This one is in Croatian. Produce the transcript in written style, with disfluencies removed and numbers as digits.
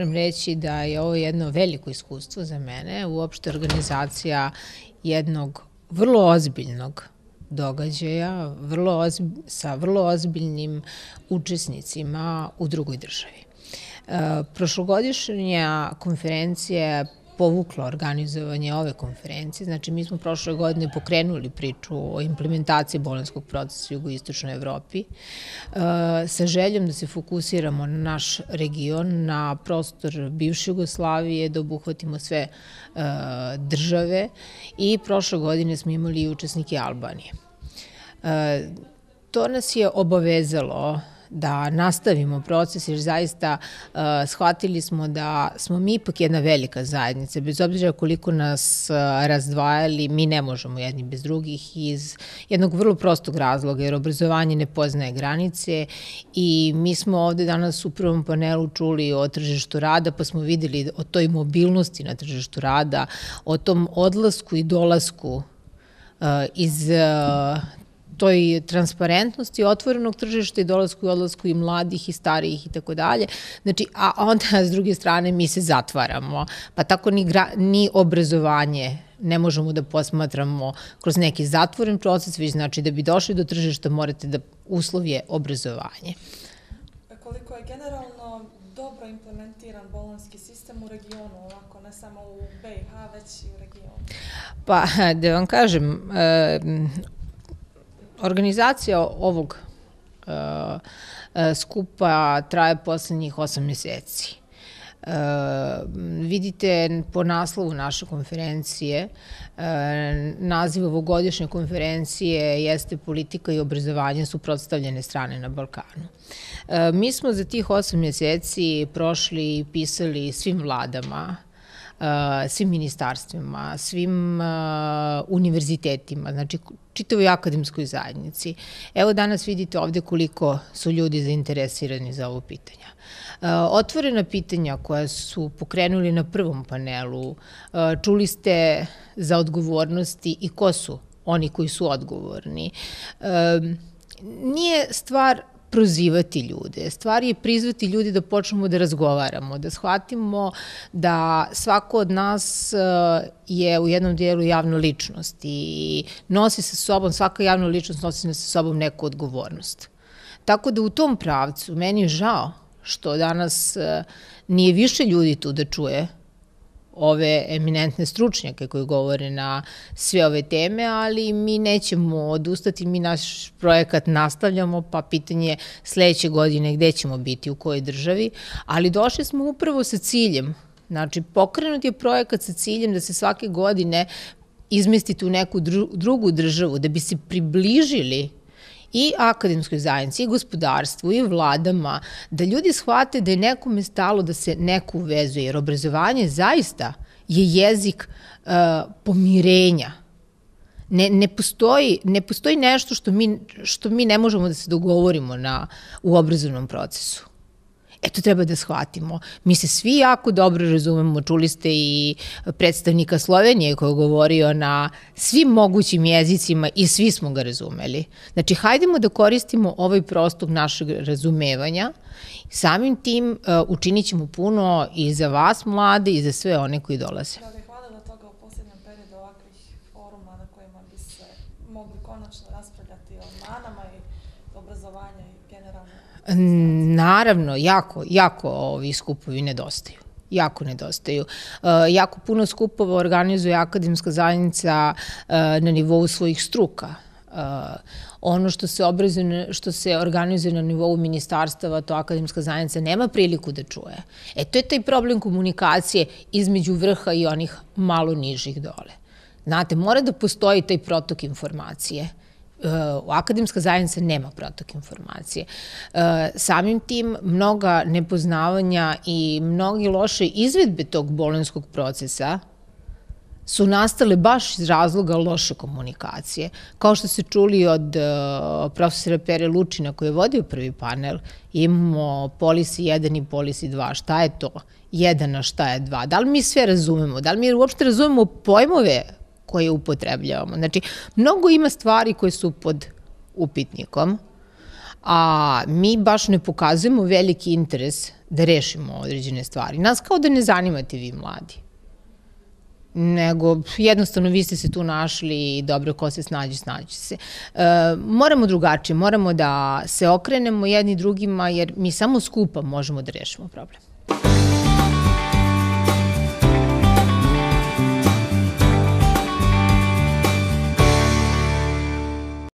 moram reći da je ovo jedno veliko iskustvo za mene, uopšte organizacija jednog vrlo ozbiljnog događaja sa vrlo ozbiljnim učesnicima u drugoj državi. Prošlogodišnja konferencija povukla organizovanje ove konferencije. Znači, mi smo prošle godine pokrenuli priču o implementaciji bolonjskog procesa u jugoistočnoj Evropi sa željom da se fokusiramo na naš region, na prostor bivše Jugoslavije, da obuhvatimo sve države i prošle godine smo imali i učesnike Albanije. To nas je obavezalo da nastavimo proces, jer zaista shvatili smo da smo mi ipak jedna velika zajednica. Bez obzira koliko nas razdvajali, mi ne možemo jedni bez drugih iz jednog vrlo prostog razloga, jer obrazovanje ne poznaje granice i mi smo ovde danas u prvom panelu čuli o tržištu rada, pa smo videli o toj mobilnosti na tržištu rada, o tom odlasku i dolasku iz toj transparentnosti otvorenog tržišta i dolasku i odlasku i mladih i starijih i tako dalje. Znači, a onda s druge strane mi se zatvaramo, pa tako ni obrazovanje ne možemo da posmatramo kroz neki zatvoren proces, već znači da bi došli do tržišta morate da uslov je obrazovanje. Koliko je generalno dobro implementiran bolonjski sistem u regionu, ovako ne samo u BiH, već i u regionu? Pa, da vam kažem, organizacija ovog skupa traje poslednjih 8 meseci. Vidite po naslovu naše konferencije, naziv ovogodišnje konferencije jeste politika i obrazovanje suprotstavljene strane na Balkanu. Mi smo za tih 8 meseci prošli i pisali svim vladama, svim ministarstvima, svim univerzitetima, znači čitavoj akademskoj zajednici. Evo danas vidite ovde koliko su ljudi zainteresirani za ovo pitanja. Otvorena pitanja koja su pokrenuli na prvom panelu, čuli ste za odgovornosti i ko su oni koji su odgovorni. Nije stvar prozivati ljude. Stvar je prizvati ljudi da počnemo da razgovaramo, da shvatimo da svako od nas je u jednom dijelu javna ličnost i nosi sa sobom, svaka javna ličnost nosi sa sobom neku odgovornost. Tako da u tom pravcu meni je žao što danas nije više ljudi tu da čuje ove eminentne stručnjake koji govore na sve ove teme, ali mi nećemo odustati, mi naš projekat nastavljamo, pa pitanje je sledeće godine gde ćemo biti, u kojoj državi, ali došli smo upravo sa ciljem, znači pokrenut je projekat sa ciljem da se svake godine izmestite u neku drugu državu, da bi se približili i akademskoj zajednici, i gospodarstvu, i vladama, da ljudi shvate da je nekome stalo da se neko uvezuje, jer obrazovanje zaista je jezik pomirenja. Ne postoji nešto što mi ne možemo da se dogovorimo u obrazovnom procesu. To treba da shvatimo. Mi se svi jako dobro razumemo, čuli ste i predstavnika Slovenije koji je govorio na svim mogućim jezicima i svi smo ga razumeli. Znači, hajdemo da koristimo ovaj prostor našeg razumevanja. Samim tim učinit ćemo puno i za vas mlade i za sve one koji dolaze. Da li hvala do toga u posljednjem periodu ovakvih foruma na kojima bi se mogli konačno raspravljati o manama i obrazovanja i generalno? Naravno, jako ovi skupovi nedostaju. Jako nedostaju. Jako puno skupova organizuje akademska zajednica na nivou svojih struka. Ono što se organizuje na nivou ministarstava, to akademska zajednica nema priliku da čuje. To je taj problem komunikacije između vrha i onih malo nižih dole. Znate, mora da postoji taj protok informacije. Akademska zajednica nema protok informacije. Samim tim mnoga nepoznavanja i mnogi loše izvedbe tog bolonjskog procesa su nastale baš iz razloga loše komunikacije. Kao što ste čuli od profesora Pere Lučina koji je vodio prvi panel, imamo policy 1 i policy 2. Šta je to 1, a šta je 2? Da li mi sve razumemo? Da li mi uopšte razumemo pojmove koje upotrebljavamo? Znači, mnogo ima stvari koje su pod upitnikom, a mi baš ne pokazujemo veliki interes da rešimo određene stvari. Nas kao da ne zanimate vi mladi. Nego jednostavno vi ste se tu našli i dobro, ko se snađe, snađe se. Moramo drugačije, moramo da se okrenemo jedni drugima jer mi samo skupa možemo da rešimo problem.